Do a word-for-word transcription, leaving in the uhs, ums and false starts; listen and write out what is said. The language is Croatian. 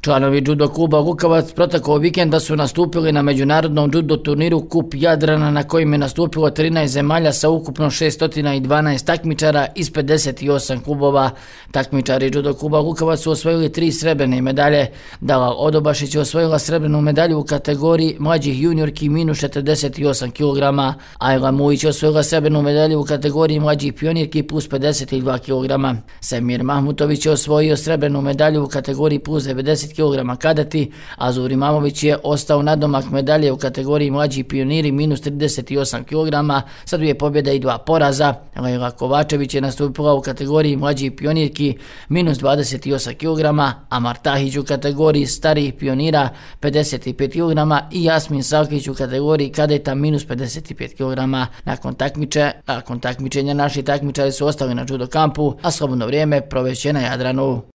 Članovi judo kluba Lukavac proteklog vikenda su nastupili na međunarodnom judo turniru Kup Jadrana na kojem je nastupilo trinaest zemalja sa ukupno šesto dvanaest takmičara iz pedeset osam klubova. Takmičari judo kluba Lukavac su osvojili tri srebrne medalje. Dalal Odobašić je osvojila srebrnu medalju u kategoriji mlađih juniorki minus četrdeset osam kilograma. Ajla Mujić je osvojila srebrnu medalju u kategoriji mlađih pionirki plus pedeset dva kilograma. Semir Mahmutović je osvojio srebrnu medalju u kategoriji plus devedeset kilograma kadeti, a Zuri Mamović je ostao nadomak medalje u kategoriji mlađi pioniri minus trideset osam kilograma sa dvije pobjede i dva poraza. Lejla Kovačević je nastupila u kategoriji mlađi pionirki minus dvadeset osam kilograma, a Martahić u kategoriji starijih pionira pedeset pet kilograma i Jasmin Salkić u kategoriji kadeta minus pedeset pet kilograma. Nakon takmiče, nakon takmičenja naši takmičari su ostali na judo kampu, a slobodno vrijeme proveće na Jadranu.